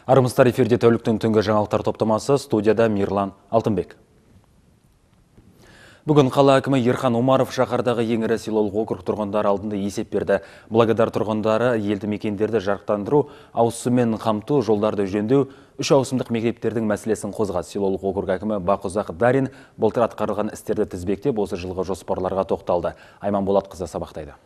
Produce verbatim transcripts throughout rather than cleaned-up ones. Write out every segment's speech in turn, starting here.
Армысыздар, эфирде тәуліктің түнгі жаңалықтар топтамасы, студияда Мирлан Алтынбек. Бүгін қала әкімі Ерхан Омаров шаһардағы ең ірі селолық округ тұрғындары алдында есеп берді. Благодар тұрғындары елді мекендерді жарықтандыру, ауыз сумен қамту, жолдарды жөндеу, үш ауысымдық мектептердің мәселесін қозғады. Селолық округ әкімі Бақұзақ Дарин былтыр атқарылған істерді тізбектеп, осы жылғы жоспарларға тоқталды. Айман Болатқызы сабақтайды.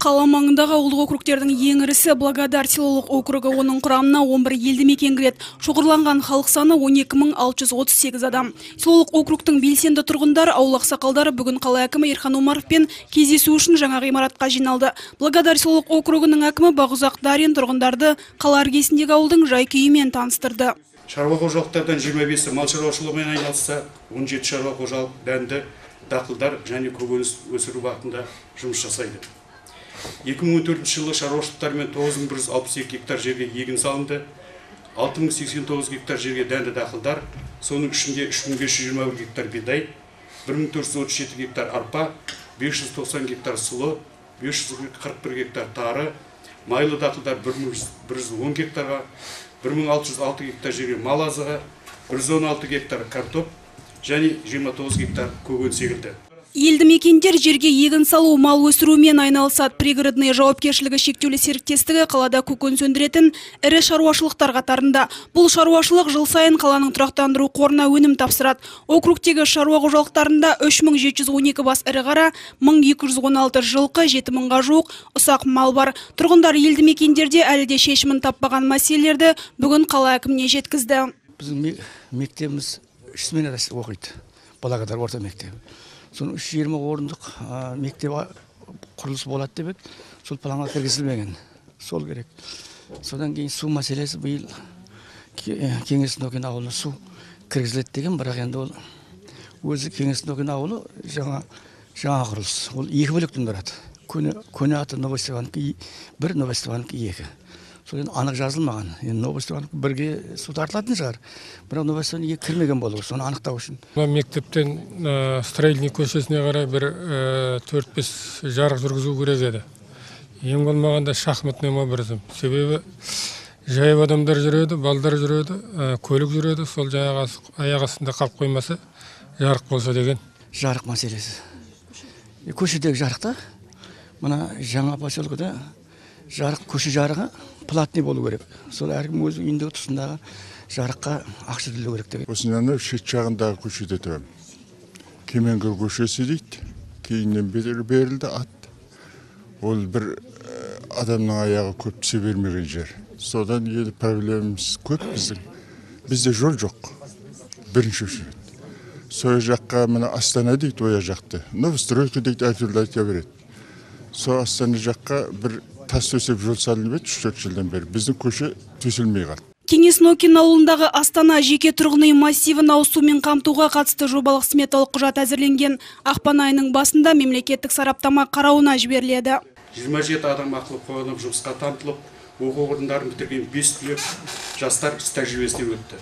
Қала маңындағы ауылдық округтердің ең ірісі Благодар селолық округі, оның құрамына он бір елді мекен кіреді. Шоғырланған халық саны он екі мың алты жүз отыз сегіз адам. Селолық округтың белсенді тұрғындары, ауыл ақсақалдары бүгін қала әкімі Ерхан Омаровпен кездесу үшін жаңа ғимаратқа жиналды. Благодар селолық округінің әкімі Бақұзақ Дарин тұрғындарды қала іргесіндегі ауылдың жай-күйімен таныстырды. Шаруа қожалықтардан жиырма бесі мал шаруашылығымен айналысса, он жеті шаруа қожалық дәнді дақылдар және көкөніс өсіру бағытында жұмыс жасайды. екі мың он төртінші жылы шаруашылықтармен тоғыз мың бір жүз алпыс екі гектар жерге егін салынды, алты мың сексен тоғыз гектар жерге дәнді дақылдар, соның ішінде үш мың бес жүз жиырма бір гектар бидай, бір мың төрт жүз отыз жеті гектар арпа, бес жүз тоқсан гектар сұлы, бес жүз қырық бір гектар тары, майлы дақылдар бір мың бір жүз он гектарға, бір мың алты жүз алты гектар жерге мал азығы, бір жүз он алты гектар картоп және жиырма тоғыз гектар көкөніс егілді. Елді мекендер жерге егін салу, мал өсірумен айналысады. Пригородный жауапкершілігі шектеулі серіктестігі қалада көкөніс өндіретін ірі шаруашылықтар қатарында. Бұл шаруашылық жыл сайын қаланың тұрақтандыру қорына өнім тапсырады. Округтегі шаруа қожалықтарында үш мың жеті жүз он екі бас ірі қара, мың екі жүз он алты жылқы, жеті мыңға жуық ұсақ мал бар. Тұрғындар елді мекендерде әлі де шешімін таппаған мәселелерді бүгін қала әкіміне жеткізді. Біздің мектебіміз үш сменада оқиды. Благодар орта мектебі. Соның үш жүз жиырма орындық мектеп құрылысы болады деп, сол планға кіргізілмеген. Сол керек. Содан кейін су мәселесі биыл Кеңес Нокен ауылына су кіргізіледі деген, бірақ енді ол өзі Кеңес Нокен ауылы жаңа жаңа құрылыс. Ол екі бөліктен тұрады. Көне аты Новостепановка бір, Новостепановка екі. Сол енді анық жазылмаған. Енді Новостепановка бірге су тартылатын шығар. Бірақ Новостепановка кірмеген болу, соны анықтау үшін. Мектептен Строительный көшесіне қарай бір төрт бес жарық жүргізу керек еді. Ең болмағанда шахматный образым. Себебі жаяу адамдар жүреді, балдар жүреді, көлік жүреді. Сол жаңағы аяқ астында қалып қоймаса, жарық болса деген. Жарық мәселесі. Көшедегі жарықта, мына жаңа поселкеде жарық, көше жарығы платный болу керек. Сол әркім өз үйіндегі тұсындағы жарыққа ақша төлеу керек деген. Осынаны шет жағындағы көшеде тұрамын. Кеменгір көшесі дейді. Кейіннен берілді ат. Ол бір адамның аяғы көп түсе бермеген жер. Содан еді проблемамыз көп біздің. Бізде жол жоқ. Бірінші үшін. Сол жаққа мына Астана дейді, оя жақты. Новостройка дейді, әртүрлі айта береді. Сол Астана жаққа бір тас төсеп жол салынып еді, үш төрт жылдан бері. Біздің көше төселмей қалды. Кеңес Нокен ауылындағы Астана жеке тұрғын үй массивін ауыз сумен қамтуға қатысты жобалық сметалық құжат әзірленген. Ақпан айының басында мемлекеттік сараптама қарауына жіберіледі. жиырма жеті адам ақылы қойылып, жұмысқа тартылып, оқу орындарын бітірген бес түлек жастар тәжірибесінен өтті.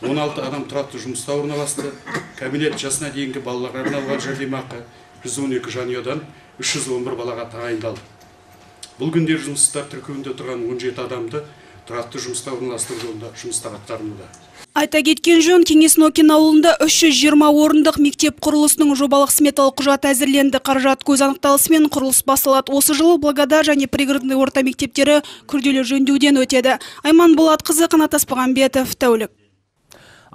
он алты адам тұрақты жұмыста орналасты. Кабинет жасына дейінгі балаларға арналған жәрдемақы жүз он екі жанұядан үш жүз он бір балаға тағайындалды. Бұл күндер жұмыстар тіркеуінде тұрған он жеті адамды тұрақты жұмысқа орналастыру жолында жұмыстар атқарылуда. Айта кеткен жөн, Кеңес Нокен ауылында үш жүз жиырма орындық мектеп құрылысының жобалық сметалық құжат әзірленді. Қаражат көз анықталысымен құрылыс басталады. Осы жылы Благодар және пригородный орта мектептері күрделі жөндеуден өтеді. Айман Болатқызы, Қанат Аспағанбетов, тәулік.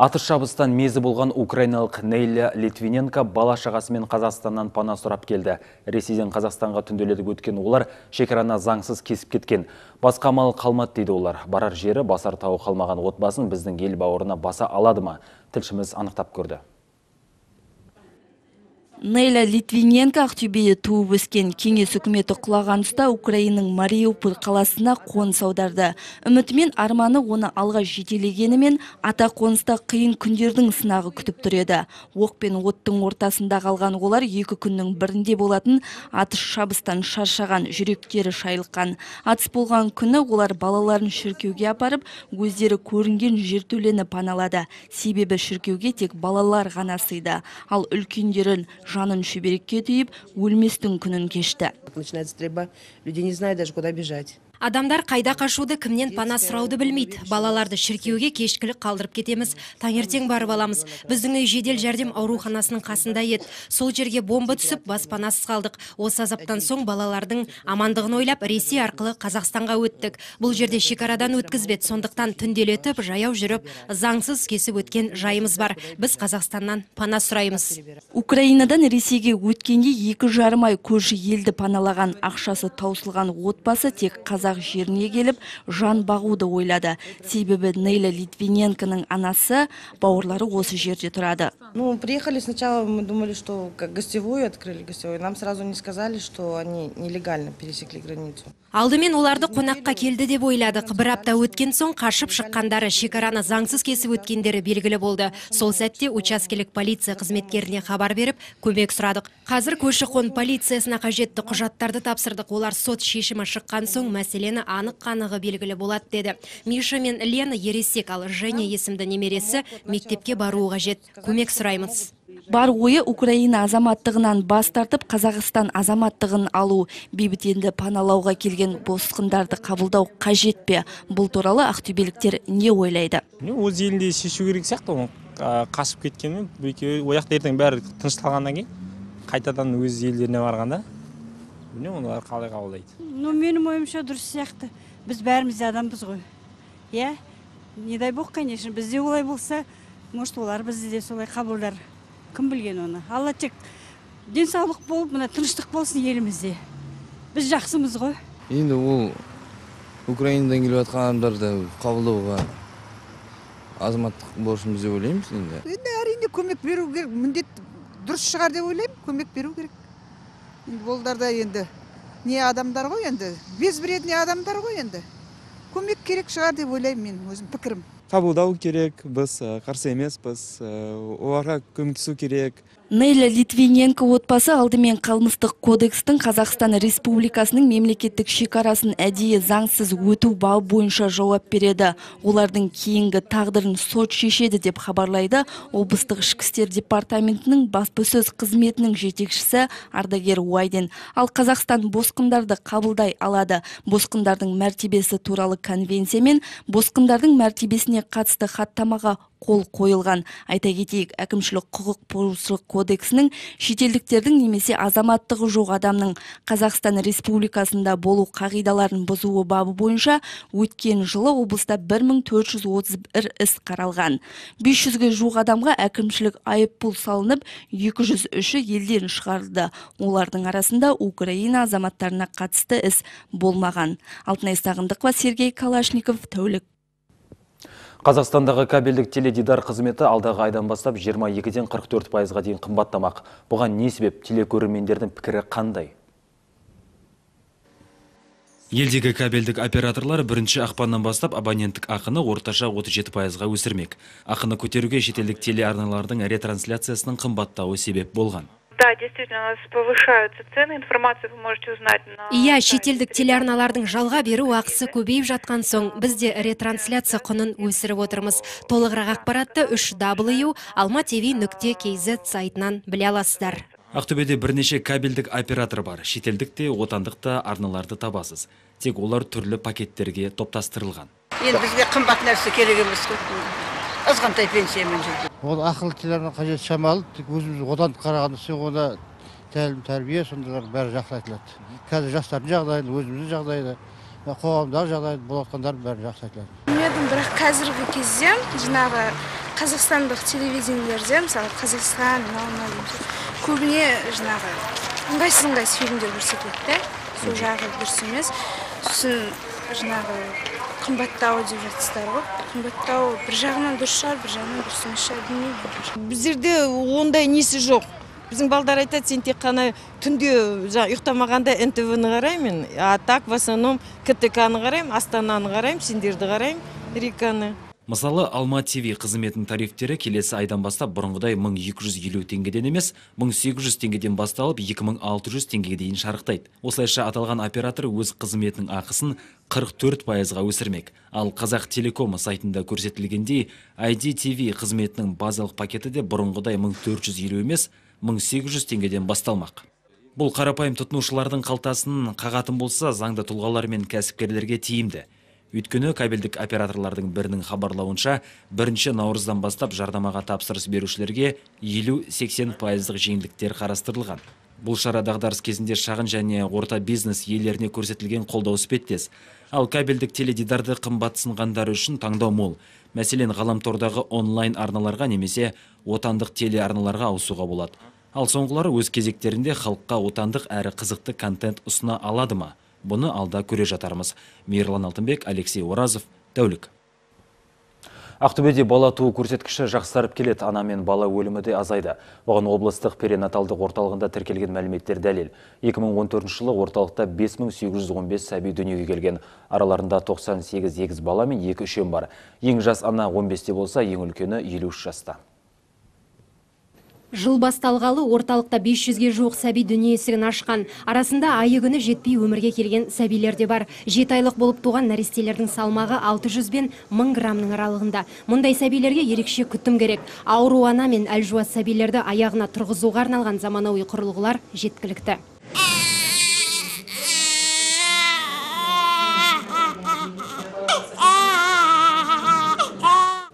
Атыс шабыстан мезі болған украиналық Нейля Литвиненко бала шағасымен Қазақстаннан пана сұрап келді. Ресейден Қазақстанға түнделетіп өткен олар шекараны заңсыз кесіп кеткен. Басқа амал қалмады дейді олар. Барар жері басар тауы қалмаған отбасын біздің ел бауырына баса алады ма? Тілшіміз анықтап көрді. Нейля Литвиненко Ақтөбеде туып өскен. Кеңес үкіметі құлаған тұста Украинаның Мариуполь қаласына қоныс аударды. Үмітімен арманы оны алға жетелегенімен ата қоныста қиын күндердің сынағы күтіп тұр еді. Оқ пен оттың ортасында қалған олар екі күннің бірінде болатын атыс шабыстан шаршаған, жүректері шайлыққан. Атыс болған күні олар балаларын шіркеуге апарып, өздері көрінген жертөлені паналады. Себебі шіркеуге тек балалар ғана сыйды, ал үлкендерін жанын шүберекке түйіп, өлместің күнін кешті. Начинается стрельба, люди не знают даже куда бежать. Адамдар қайда қашуды, кімнен пана сұрауды білмейді. Балаларды шіркеуге кешкілік қалдырып кетеміз. Таңертең барып аламыз. Біздің үй жедел жәрдем ауруханасының қасында еді. Сол жерге бомба түсіп, баспанасыз қалдық. Осы азаптан соң балалардың амандығын ойлап, Ресей арқылы Қазақстанға өттік. Бұл жерде шекарадан өткізбеді, сондықтан түнделетіп, жаяу жүріп, заңсыз кесіп өткен жайымыз бар. Біз Қазақстаннан пана сұраймыз. Украинадан Ресейге өткенде екі жарым ай көрші елді паналаған, ақшасы таусылған отбасы тек қазақ жеріне келіп, жан бағуды ойлады. Себебі Нейля Литвиненконың анасы, бауырлары осы жерде тұрады. Ну, приехали сначала, мы думали, что как гостевую открыли гостевую. Нам сразу не сказали, что они нелегально пересекли границу. Алдымен оларды қонаққа келді деп ойладық. Бір апта өткен соң қашып шыққандары, шекараны заңсыз кесіп өткендері белгілі болды. Сол сәтте учаскелік полиция қызметкеріне хабар беріп, көмек сұрадық. Қазір көші-қон полициясына қажетті құжаттарды тапсырдық. Олар сот шешімі шыққан соң мәселені анық қанығы белгілі болады деді. Миша мен Лена ересек, ал Женя есімді немересі мектепке баруы қажет. Көмек сұраймыз. Бар ойы Украина азаматтығынан бас тартып, Қазақстан азаматтығын алу. Бейбітенді паналауға келген босқындарды қабылдау қажет пе? Бұл туралы ақтөбеліктер не ойлайды? Өз елінде шешу керек сияқты, қашып кеткенмен, ояқта ертең бәрі тынышталғаннан кейін, қайтадан өз елдеріне барғанда, олар қалай қабылдайды? Ну, менің ойымша дұрыс сияқты. Біз бәріміз адамбыз ғой. Я, не дай бог, конечно, бізде олай болса, может, олар бізде де солай қабылдар. Кім білген оны? Алла тек денсаулық болып, мына тыныштық болсын елімізде. Біз жақсымыз ғой. Енді ол Украинадан келіп жатқан адамдарды қабылдауға азаматтық борышымыз деп ойлаймыз енді. Енді әрине көмек беру керек, міндет дұрыс шығар деп ойлаймын, көмек беру керек. Енді болдарда енді не адамдар ғой енді, безбіредне адамдар ғой енді. Көмек керек шығар деп ойлаймын мен, өзім пікірім. Қабылдау керек, біз қарсы емеспіз, оларға көмектесу керек. Нейля Литвиненко отбасы алдымен қылмыстық кодекстің Қазақстан Республикасының мемлекеттік шекарасын әдейі заңсыз өту бабы бойынша жауап береді. Олардың кейінгі тағдырын сот шешеді деп хабарлайды облыстық ішкі істер департаментінің баспасөз қызметінің жетекшісі Ардагер Уайден. Ал Қазақстан босқындарды қабылдай алады. Босқындардың мәртебесі туралы конвенция мен босқындардың мәртебесіне қатысты хаттамаға қол қойылған. Айта кетейік, әкімшілік құқық бұзушылық кодексінің шетелдіктердің немесе азаматтығы жоқ адамның Қазақстан Республикасында болу қағидаларын бұзуы бабы бойынша өткен жылы облыста бір мың төрт жүз отыз бір іс қаралған. бес жүзге жуық адамға әкімшілік айыппұл салынып, екі жүз үші елден шығарылды. Олардың арасында Украина азаматтарына қатысты іс болмаған. Алтынай Сағындықова, Сергей Калашников, тәулік. Қазақстандағы кабельдік теледидар қызметі алдағы айдан бастап жиырма екіден қырық төрт пайызға дейін қымбаттамақ. Бұған не себеп? Телекөрермендердің пікірі қандай? Елдегі кабельдік операторлар бірінші ақпаннан бастап абоненттік ақыны орташа отыз жеті пайызға өсірмек. Ақыны көтеруге шетелдік телеарналардың ретрансляциясының қымбаттауы себеп болған. Да, действительно, у нас повышаются цены, информацию вы можете узнать на... Иә, шетелдік телеарналардың жалға беру ақысы көбейіп жатқан соң, бізде ретрансляция құнын өсіріп отырмыз. Толығырақ ақпаратты үш дабл ю алма тв нүкте кз сайтынан біле аласыздар. Ақтөбеде бірнеше кабельдік оператор бар. Шетелдік те, отандық та арналарды табасыз. Тек олар түрлі пакеттерге топтастырылған. Енді бізге қымбат нәрсе керек емес. Азғантай пенсиямен жүрді. Ол ақылы телеарна қажет шамалы, тек өзіміз одан қарағанда сен оны тәлім тәрбие сондайлар бәрі жақсы айтылады. Қазір жастардың жағдайын, өзіміздің жағдайды, қоғамдағы жағдайды болатқандар бәрі жақсы айтылады. Мен бірақ қазіргі кезде жаңағы қазақстандық телевидениелерде, мысалы Қазақстан, көбіне жаңағы ыңғайсыз ыңғайсыз фильмдер көрсетеді. Сол жағы дұрыс емес. Сосын жаңағы қымбаттау деп жатсыздар ғой. Қымбаттау бір жағынан дұрыс шығар, бір жағынан дұрыс емес шығар, білмеймін. Біздерде ондай несі жоқ. Біздің балдар айтады, сен тек қана түнде ұйықтамағанда эн тэ вэ-ні қараймын, а так в основном ка тэ ка-ны қараймын, Астананы қараймын, сендерді қараймын, Риканы. Мысалы, Алма тв қызметінің тарифтері келесі айдан бастап бұрынғыдай мың екі жүз елу теңгеден емес, мың сегіз жүз теңгеден басталып екі мың алты жүз теңгеге дейін шарықтайды. Осылайша аталған оператор өз қызметінің ақысын қырық төрт пайызға өсірмек. Ал Қазақ Телеком сайтында көрсетілгендей, ай ди ти ви қызметінің базалық пакеті де бұрынғыдай мың төрт жүз елу емес, мың сегіз жүз теңгеден басталмақ. Бұл қарапайым тұтынушылардың қалтасын қағатын болса, заңды тұлғалар мен кәсіпкерлерге тиімді. Өйткені кабельдік операторлардың бірінің хабарлауынша, бірінші наурыздан бастап жардамаға тапсырыс берушілерге елу-сексен пайыздық жеңілдіктер қарастырылған. Бұл шара дағдарыс кезінде шағын және орта бизнес иелеріне көрсетілген қолдау іспеттес. Ал кабельдік теледидарды қымбатсынғандар үшін таңдау мол. Мәселен, ғаламтордағы онлайн арналарға немесе отандық телеарналарға ауысуға болады. Ал соңғылары өз кезектерінде халыққа отандық әрі қызықты контент ұсына алады ма? Бұны алда көре жатармыз. Мейірлан Алтынбек, Алексей Оразов, Тәулік. Ақтөбеде бала туу көрсеткіші жақсарып келеді, ана мен бала өлімі де азайды. Оған облыстық перинаталдық орталығында тіркелген мәліметтер дәлел. екі мың он төртінші жылы орталықта бес мың сегіз жүз он бес сәби дүниеге келген. Араларында тоқсан сегіз егіз бала мен екі үшем бар. Ең жас ана он бесте болса, ең үлкені елу үш жаста. Жыл басталғалы орталықта бес жүзге жуық сәби дүние есігін ашқан. Арасында айы күні жетпей өмірге келген сәбилер де бар. Жеті айлық болып туған нәрестелердің салмағы алты жүз бен мың граммның аралығында. Мұндай сәбилерге ерекше күтім керек. Ауру ана мен әлжуаз сәбилерді аяғына тұрғызуға арналған заманауи құрылғылар жеткілікті.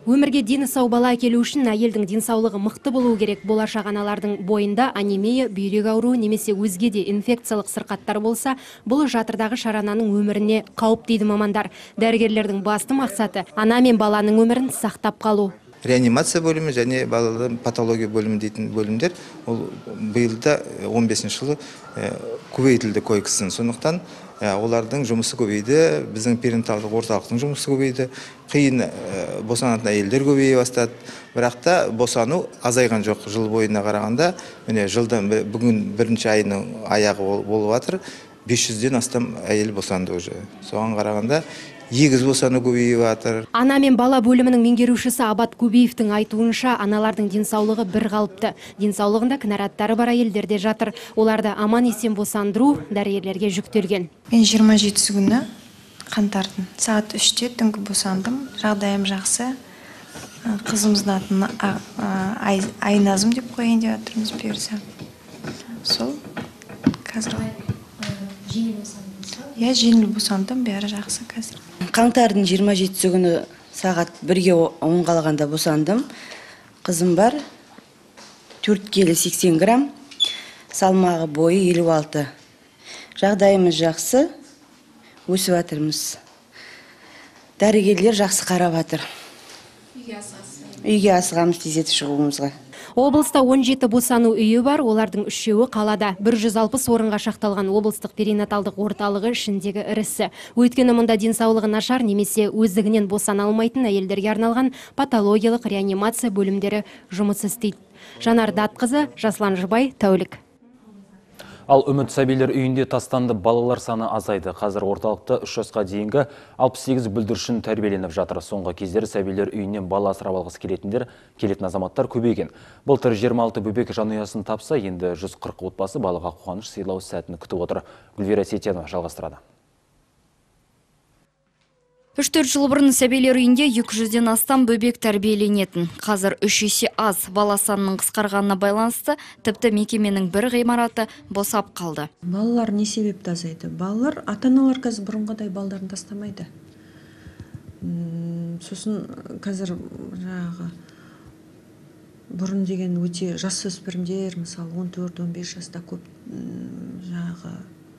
Өмірге дені сау бала әкелу үшін әйелдің денсаулығы мықты болуы керек. Болашақ аналардың бойында анемия, бүйрек ауруы немесе өзге де инфекциялық сырқаттар болса, бұл жатырдағы шарананың өміріне қауіп дейді мамандар. Дәрігерлердің басты мақсаты ана мен баланың өмірін сақтап қалу. Реанимация бөлімі және балалардың патология бөлімі дейтін бөлімдер ол биылда он бесінші жылы көбейтілді койкасын. Сондықтан олардың жұмысы көбейді, біздің перинаталдық орталықтың жұмысы көбейді, қиын босанатын әйелдер көбейе бастады. Бірақ та босану азайған жоқ жыл бойына қарағанда. Міне жылдан бүгін бірінші айының аяғы болып жатыр, бес жүзден астам әйел босанды уже. Соған қарағанда егіз босану көбейіп жатыр. Ана мен бала бөлімінің меңгерушісі Абат Көбеевтің айтуынша, аналардың денсаулығы бір қалыпты. Денсаулығында кінәраттары бар әйелдер де жатыр. Оларды аман есен босандыру дәрігерлерге жүктелген. Мен жиырма жетісі күні қаңтардың сағат үште түнгі босандым. Жағдайым жақсы. Қызымыздың атын Айназым деп қойын деп жатырмыз бұйырса. Сол қазір Я жеңіл босандым, бәрі жақсы қазір. Қаңтардың жиырма жетісі күні сағат бірге он қалғанда босандым. Қызым бар, төрт келі сексен грамм, салмағы бойы елу алты. Жағдайымыз жақсы, өсіп жатырмыз. Дәрігерлер жақсы қарап жатыр. Үйге асығамыз тезетіп шығуымызға. Облыста он жеті босану үйі бар, олардың үшеуі қалада. бір жүз алпыс орынға шақталған облыстық перинаталдық орталығы ішіндегі ірісі. Өйткені мұнда денсаулығы нашар немесе өздігінен босана алмайтын әйелдерге арналған патологиялық реанимация бөлімдері жұмыс істейді. Жанар Датқызы, Жаслан Жыбай, Тәулік. Ал үміт сәбилер үйінде тастанды балалар саны азайды. Қазір орталықта үш жасқа дейінгі алпыс сегіз бүлдіршін тәрбиеленіп жатыр. Соңғы кездері сәбилер үйінен бала асырап алғысы келетіндер, келетін азаматтар көбейген. Былтыр жиырма алты бөбек жанұясын тапса, енді жүз қырық отбасы балаға қуаныш сыйлау сәтін күтіп отыр. Гүлвира Сетенова жалғастырады. үш төрт жыл бұрын сәбилер үйінде екі жүзден астам бөбек тәрбиеленетін. Қазір үш есе аз, бала санының қысқарғанына байланысты, тіпті мекеменің бір ғимараты босап қалды. Балалар не себепті азайды? Балалар, ата-аналар қазір бұрынғыдай балдарын тастамайды. Сосын қазір жаңағы бұрын деген өте жасөспірімдер, мысалы он төрт он бес жаста көп жаңағы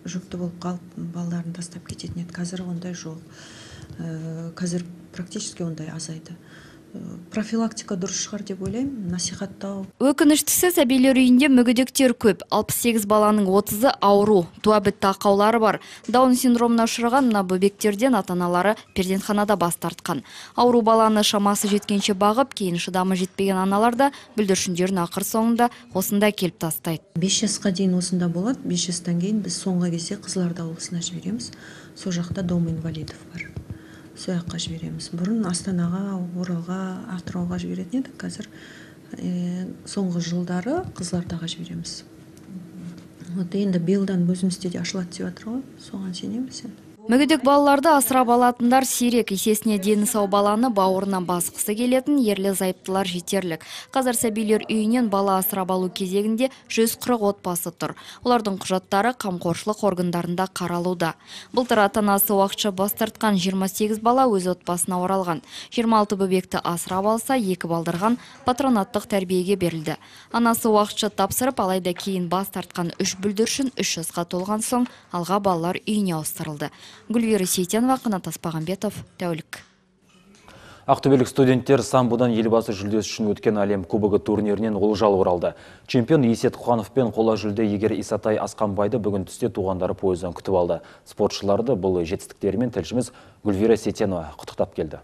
жүкті болып қалып балаларын тастап кететін еді. Қазір ондай жоқ. Қазір практически ондай азайды. Профилактика дұрыс шығар деп ойлаймын, насихаттау. Өкініштісі сәбилер үйінде мүгедектер көп. алпыс сегіз баланың отызы ауру, туабітті ақаулары бар. Даун синдромына ұшыраған мына бөбектерден ата-аналары перзентханада бас тартқан. Ауру баланы шамасы жеткенше бағып, кейін шыдамы жетпеген аналар да бүлдіршіндерін ақыр соңында осында келіп тастайды. бес жасқа дейін осында болады, бес жастан кейін біз соңғы кезде Қызылорда облысына жібереміз. Сол жақта дом инвалидов бар. Сол жаққа жібереміз. Бұрын Астанаға, Оралға, Атырауға жіберетін едік. Қазір соңғы жылдары Қызылордаға жібереміз. Енді биылдан өзімізде де ашылады деп жатыр ғой. Соған сенеміз енді. Мүгедек балаларды асырап алатындар сирек, есесіне дені сау баланы бауырынан басқысы келетін ерлі зайыптылар жетерлік. Қазір сәбилер үйінен бала асырап алу кезегінде жүз қырық отбасы тұр. Олардың құжаттары қамқоршылық органдарында қаралуда. Былтыр ата-анасы уақытша бас тартқан жиырма сегіз бала өз отбасына оралған. жиырма алты бөбекті асырап алса, екі балдырған патронаттық тәрбиеге берілді. Анасы уақытша тапсырып, алайда кейін бас тартқан үш бүлдіршін үш жасқа толған соң алға балалар үйіне ауыстырылды. Гүлвира Сейтенова, Қанат Аспағанбетов, тәулік. Ақтөбелік студенттер самбодан елбасы жүлдесі үшін өткен әлем кубогы турнирінен олжал оралды. Чемпион Есет Құханов пен қола жүлде егер Исатай Асқанбайды бүгін түсте туғандары пойыздан күтіп алды. Спортшыларды бұл жетістіктерімен тілшіміз Гүлвира Сейтенова құттықтап келді.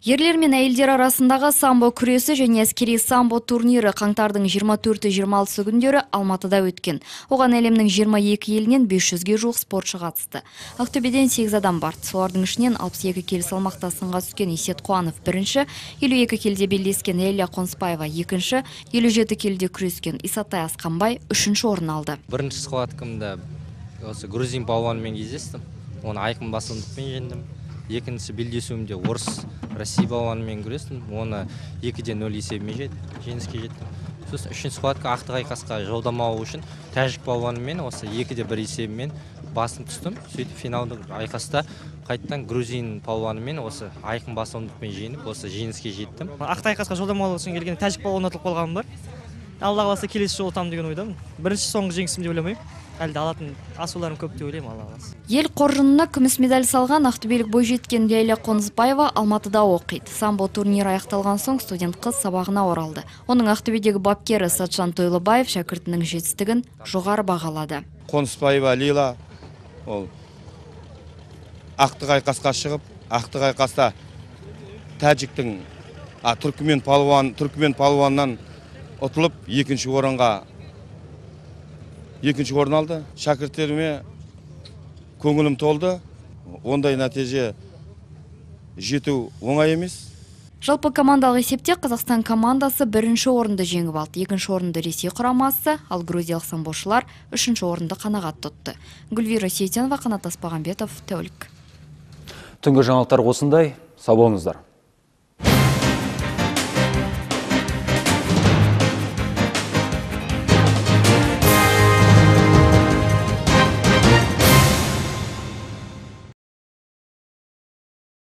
Ерлер мен әйелдер арасындағы самбо күресі және әскери самбо турнирі қаңтардың жиырма төрті жиырма алтысы күндері Алматыда өткен. Оған әлемнің жиырма екі елінен бес жүзге жуық спортшы қатысты. Ақтөбеден сегіз адам барды. Солардың ішінен алпыс екі келі салмақта сынға түскен Есет Құханов бірінші, елу екі келіде белдескен Элия Қонысбаева екінші, елу жеті келіде күрескен Исатай Асқанбай үшінші орын алды. Бірінші схваткамда осы грузин палуанымен кездестім. Оны айқын басымдықпен жеңдім. Екіншісі белдесуімде орыс Россия балуанымен күрестім. Оны екіде нөл есебімен жеңіске жеттім. Сосын үшінші схватка ақтық айқасқа жолдама алу үшін тәжік балуанымен осы екіде бір есебімен басым түстім. Сөйтіп финалдық айқаста қайттан грузин балуанымен осы айқын басымдықпен жеңіп, осы жеңіске жеттім. Ақтық айқасқа жолдама алу үшін келген тәжік балуан ұтылып қалғаным бар. Алла қаласа келесі жолы ұтамын деген ойдамын. Бірінші соңғы жеңісім деп ойламаймын. Әлде алатын асуларым көп деп ойлаймын, Алла қаласа. Ел қоржынына күміс медаль салған ақтөбелік бойжеткен Лейла Қонысбаева Алматыда оқиды. Самбо турнирі аяқталған соң студент қыз сабағына оралды. Оның Ақтөбедегі бапкері Сатжан Тойлыбаев шәкіртінің жетістігін жоғары бағалады. Қонысбаева Лейла ол ақтық айқасқа шығып, ақтық айқаста тәжіктің түркімен палуан, түркімен палуаннан ұтылып екінші орынға екінші орын алды. Шәкірттеріме көңілім толды. Ондай нәтиже жету оңай емес. Жалпы командалық есепте Қазақстан командасы бірінші орынды жеңіп алды. Екінші орынды Ресей құрамасы, ал грузиялық самбошылар үшінші орынды қанағат тұтты. Гүлвира Сейтенова, Қанат Аспағанбетов, тәулік. Түнгі жаңалықтар осындай. Сау болыңыздар.